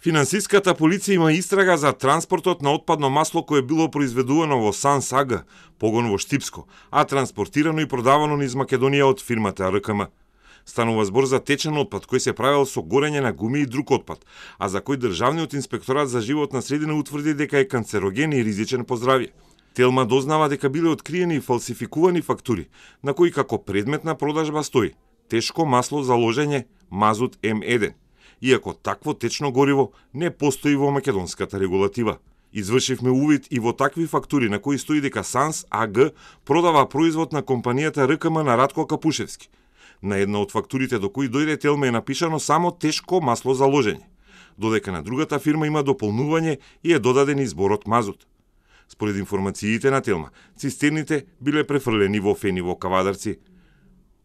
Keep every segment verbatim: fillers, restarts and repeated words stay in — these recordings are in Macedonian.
Финансиската полиција има истрага за транспортот на отпадно масло кое било произведувано во Санс АГ, погон во Штипско, а транспортирано и продавано низ Македонија од фирмата Р К М. Станува збор за течен отпад кој се правел со горење на гуми и друг отпад, а за кој Државниот инспекторат за животна средина утврди дека е канцероген и ризичен по здравје. Телма дознава дека биле откриени и фалсификувани фактури, на кои како предмет на продажба стои тешко масло за ложење мазут М еден, иако такво течно гориво не постои во македонската регулатива. Извршивме увид и во такви фактури на кои стои дека Санс АГ продава производ на компанијата Р К М на Радко Капушевски. На една од фактурите до кои дојде Телма е напишано само тешко масло за ложење, додека на другата фирма има дополнување и е додаден изборот мазут. Според информациите на Телма, цистерните биле префрлени во фени во Кавадарци.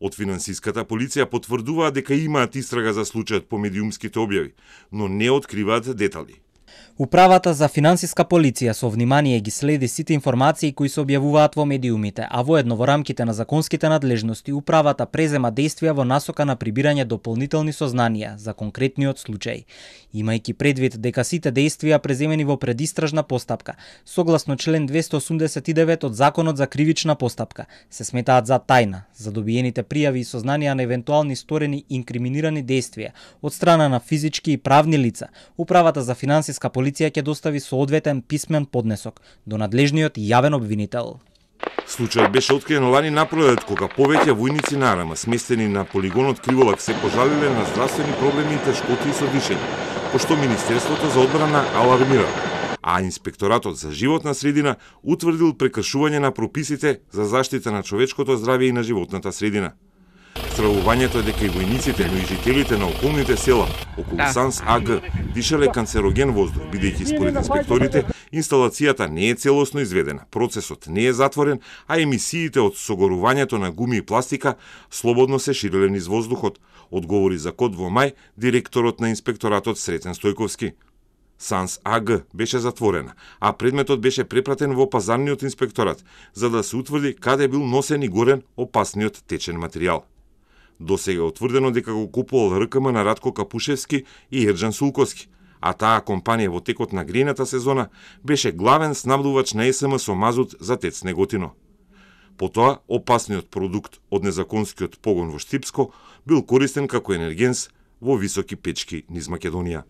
Од финансиската полиција потврдуваат дека имаат истрага за случајот по медиумските објави, но не откриваат детали. Управата за финансиска полиција со внимание ги следи сите информации кои се објавуваат во медиумите, а воедно во рамките на законските надлежности управата презема действија во насока на прибирање дополнителни сознанија за конкретниот случај. Имајќи предвид дека сите действија преземени во предистражна постапка, согласно член двесте осумдесет и девет од Законот за кривична постапка, се сметаат за тајна, за добиените пријави и сознанија на евентуални сторени инкриминирани действија од страна на физички и правни лица, управата за финансиска полиција ќе достави соодветен писмен поднесок до надлежниот јавен обвинител. Случајот беше откриен лани напролет кога повеќе војници на АРМА сместени на полигонот Криволак се пожалиле на здравствени проблеми и тешкоти со дишење, пошто Министерството за одбрана алармира, а Инспекторатот за животна средина утврдил прекршување на прописите за заштита на човечкото здравје и на животната средина. Стравувањето е дека и војниците, но и жителите на околните села околу Санс АГ дишале канцероген воздух, бидејќи според инспекторите инсталацијата не е целосно изведена, процесот не е затворен, а емисиите од согорувањето на гуми и пластика слободно се ширеле низ воздухот, одговори за Код во мај директорот на инспекторатот Сретен Стојковски. Санс АГ беше затворена, а предметот беше препратен во пазарниот инспекторат, за да се утврди каде бил носен и горен опасниот течен материјал. Досега е утврдено дека го купувал Р К М на Радко Капушевски и Ерџан Сулковски, а таа компанија во текот на грејната сезона беше главен снабдувач на С М со мазут за ТЕЦ Неготино. Потоа, опасниот продукт од незаконскиот погон во Штипско бил користен како енергенс во високи печки низ Македонија.